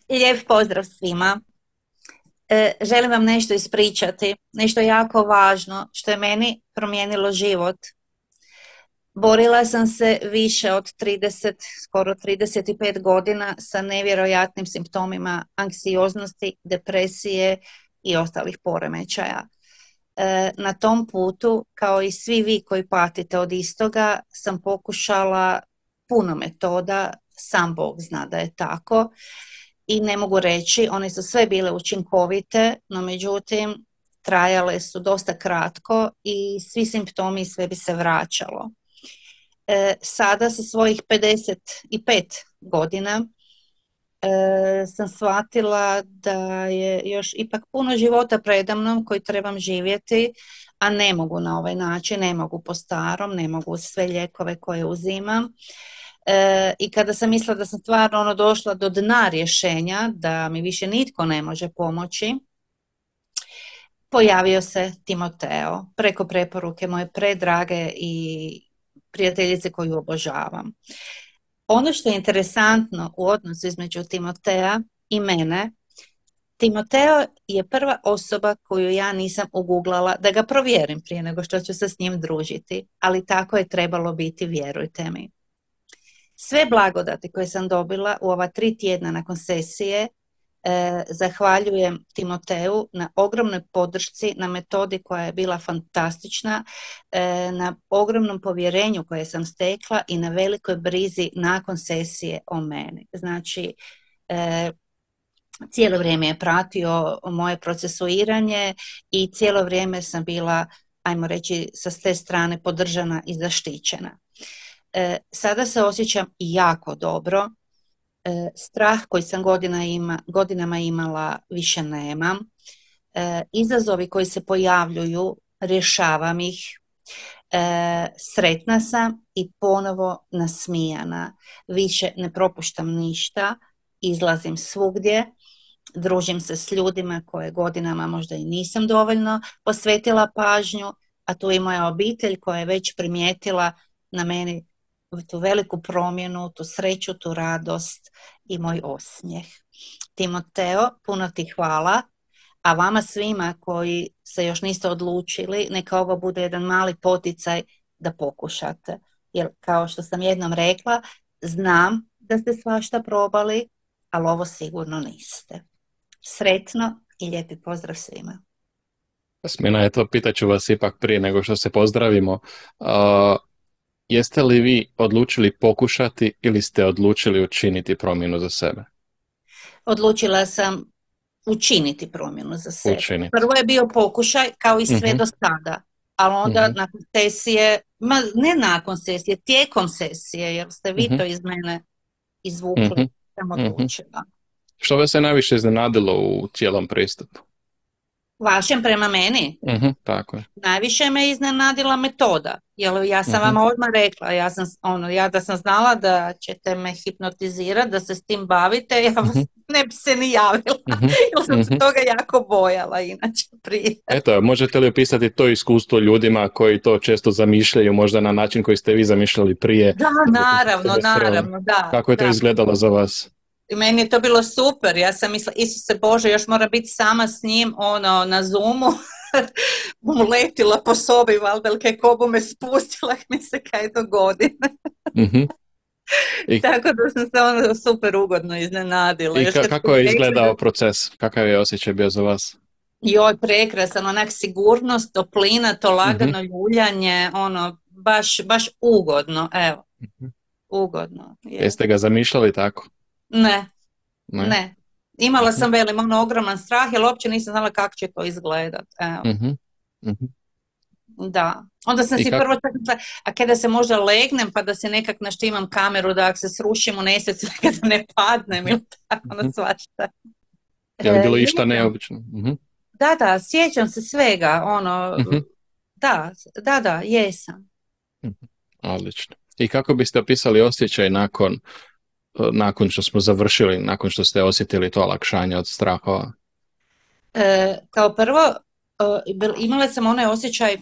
Lijep pozdrav svima. Želim vam nešto ispričati, nešto jako važno što je meni promijenilo život. Borila sam se više od 30, skoro 35 godina sa nevjerojatnim simptomima anksioznosti, depresije i ostalih poremećaja. Na tom putu, kao i svi vi koji patite od istoga, sam pokušala puno metoda, sam Bog zna da je tako, i ne mogu reći, one su sve bile učinkovite, no međutim trajale su dosta kratko i svi simptomi sve bi se vraćalo. Sada sa svojih 55 godina sam shvatila da je još ipak puno života predamnom koji trebam živjeti, a ne mogu na ovaj način, ne mogu po starom, ne mogu sve lijekove koje uzimam. I kada sam mislila da sam stvarno došla do dna rješenja, da mi više nitko ne može pomoći, pojavio se Timoteo preko preporuke moje predrage i prijateljice koju obožavam. Ono što je interesantno u odnosu između Timotea i mene, Timoteo je prva osoba koju ja nisam uguglala da ga provjerim prije nego što ću se s njim družiti, ali tako je trebalo biti, vjerujte mi. Sve blagodati koje sam dobila u ova 3 tjedna nakon sesije, zahvaljujem Timoteu na ogromnoj podršci, na metodi koja je bila fantastična, na ogromnom povjerenju koje sam stekla i na velikoj brizi nakon sesije o meni. Znači, cijelo vrijeme je pratio moje procesuiranje i cijelo vrijeme sam bila, ajmo reći, sa te strane podržana i zaštićena. Sada se osjećam jako dobro. Strah koji sam godinama imala više nemam. Izazovi koji se pojavljuju, rješavam ih. Sretna sam i ponovo nasmijana. Više ne propuštam ništa, izlazim svugdje, družim se s ljudima koje godinama možda i nisam dovoljno posvetila pažnju, a tu i moja obitelj koja je već primijetila na meni tu veliku promjenu, tu sreću, tu radost i moj osmijeh. Timoteo, puno ti hvala, a vama svima koji se još niste odlučili, neka ovo bude jedan mali poticaj da pokušate. Jer kao što sam jednom rekla, znam da ste svašta probali, ali ovo sigurno niste. Sretno i lijepi pozdrav svima. Smina je to, pitaću vas ipak prije nego što se pozdravimo. Jeste li vi odlučili pokušati ili ste odlučili učiniti promjenu za sebe? Odlučila sam učiniti promjenu za sebe. Učiniti. Prvo je bio pokušaj kao i sve do sada, ali onda nakon sesije, ne nakon sesije, tijekom sesije, jer ste vi to iz mene izvukli, sam odlučila. Što vas je najviše iznenadilo u cijelom pristupu? Vašem prema meni? Tako je. Najviše me iznenadila metoda, jer ja sam vama odmah rekla, ja da sam znala da ćete me hipnotizirati, da se s tim bavite, ja vas ne bi se ni javila, jer sam se toga jako bojala inače prije. Eto, možete li opisati to iskustvo ljudima koji to često zamišljaju, možda na način koji ste vi zamišljali prije? Da, naravno, da. Kako je to izgledalo za vas? I meni je to bilo super, ja sam mislila, Isuse Bože, još moram biti sama s njim, na Zoomu, letila po sobi, valjda, kako me spustila, mi se kaj dogodi. Tako da sam se super ugodno iznenadila. I kako je izgledao proces? Kakav je osjećaj bio za vas? Joj, prekrasan, onak sigurnost, toplina, to lagano ljuljanje, baš ugodno, evo. Ugodno. Jeste ga zamišljali tako? Ne. Imala sam ogroman strah, jer uopće nisam znala kako će to izgledat. Da. Onda sam si prvo čekala, a kada se možda legnem pa da se nekak naštimam kameru da ako se srušim u nesvijest kada ne padnem ili tako, svašta. Je li bilo išta neobično? Da, sjećam se svega, da, jesam. Odlično. I kako biste opisali osjećaj nakon što smo završili, nakon što ste osjetili to olakšanje od strahova? Kao prvo, imala sam onaj osjećaj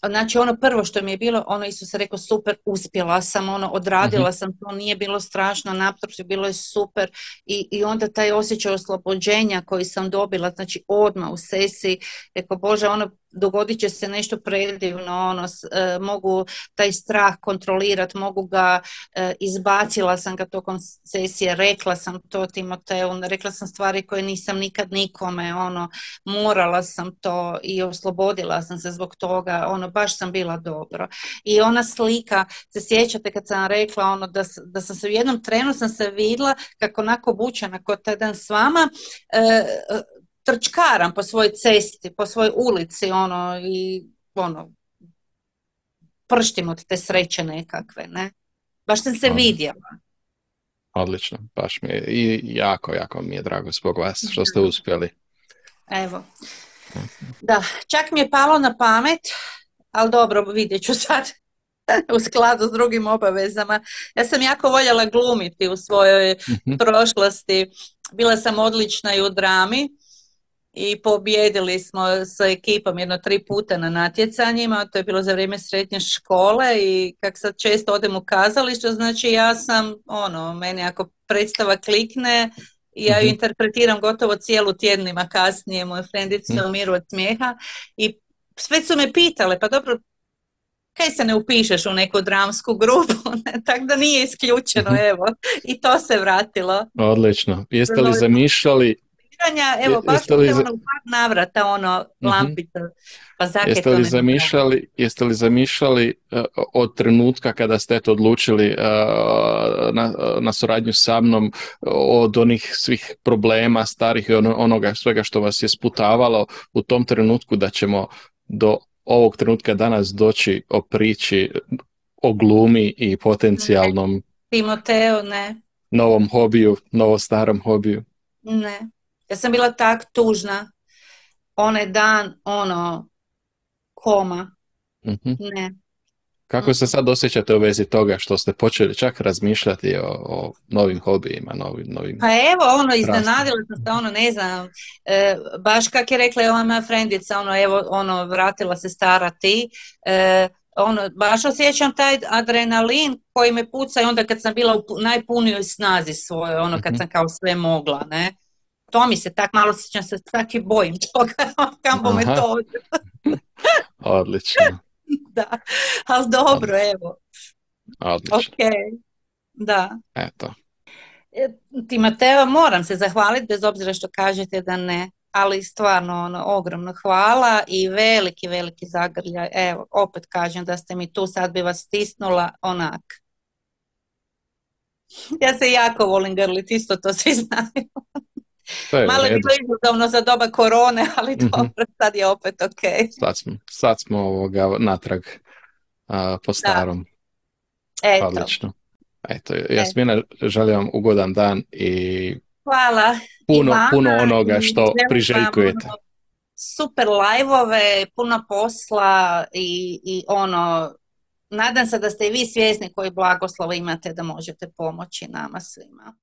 Znači ono prvo što mi je bilo, ono isto se rekao super, uspjela sam, ono Mhm. odradila sam to, nije bilo strašno, naprotiv, bilo je super i onda taj osjećaj oslobođenja koji sam dobila, znači odmah u sesiji, rekao Bože, ono dogodit će se nešto predivno, ono, mogu taj strah kontrolirati, mogu ga, izbacila sam ga tokom sesije, rekla sam to Timoteu, rekla sam stvari koje nisam nikad nikome, ono, morala sam to i oslobodila sam se zbog toga, ono, baš sam bila dobro. I ona slika, se sjećate kad sam rekla ono, da sam se u jednom trenu sam se vidjela kako onako obučena kod taj dan s vama, trčkaram po svojoj cesti, po svojoj ulici, ono, i ono, prštim od te sreće nekakve, ne? Baš sam se Od- vidjela. Odlično, baš mi je i jako, jako mi je drago zbog vas što ste uspjeli. Evo. Da, čak mi je palo na pamet, ali dobro, vidjet ću sad u skladu s drugim obavezama. Ja sam jako voljela glumiti u svojoj Mhm. prošlosti. Bila sam odlična i u drami i pobijedili smo sa ekipom jedno 3 puta na natjecanjima, to je bilo za vrijeme srednje škole i kak sad često odem u kazalište, znači ja sam, ono, meni ako predstava klikne, ja ju Mhm. interpretiram gotovo cijelu tjednima kasnije, moje Mhm. frendice umiru od smijeha i sve su me pitale, pa dobro, kaj se ne upišeš u neku dramsku grupu, tako da nije isključeno, Mhm. evo, i to se vratilo. Odlično. Jeste li Novi zamišljali, pitanja, evo, baš jeste mi li, se ono u par navrata, ono, mhm. lampica, pa zake to ne napravim. Jeste li zamišljali od trenutka kada ste to odlučili na suradnju sa mnom od onih svih problema starih i onoga svega što vas je sputavalo u tom trenutku da ćemo do ovog trenutka danas doći o priči, o glumi i Ne, potencijalnom Timoteo, ne, novom hobiju, novo starom hobiju? ne. Ja sam bila tak tužna, onaj dan, ono, koma, Mhm. ne. Kako se Mm-mm. sad osjećate u vezi toga što ste počeli čak razmišljati o novim hobijima, novim Pa evo, ono, strastima? iznenadila sam se, ono, ne znam, baš kak je rekla ova moja frendica, ono, evo, ono, vratila se stara ti, ono, baš osjećam taj adrenalin koji me puca i onda kad sam bila u najpunijoj snazi svojoj, ono, kad Mhm. sam kao sve mogla, ne. To mi se tak malo sjećam se, tak i bojim toga, kamo me Aha, to, odlično, da, ali dobro, odlično, evo, odlično. ok, da. Eto, Ti Mateo, moram se zahvaliti bez obzira što kažete da ne, ali stvarno ono, ogromno hvala i veliki, veliki zagrljaj. Evo, opet kažem da ste mi tu, sad bi vas stisnula onak. Ja se jako volim grliti, isto to svi znaju. to je u Malo je redu. bilo izazovno za doba korone, ali Mhm. dobro, sad je opet ok. Sad smo natrag po Da, starom. eto. Odlično. Eto, E, Jasmina, želim vam ugodan dan i hvala i puno, puno vama onoga i što želim vam priželjkujete. ono, super live-ove, puno posla i ono, nadam se da ste i vi svjesni koji blagoslov imate da možete pomoći nama svima.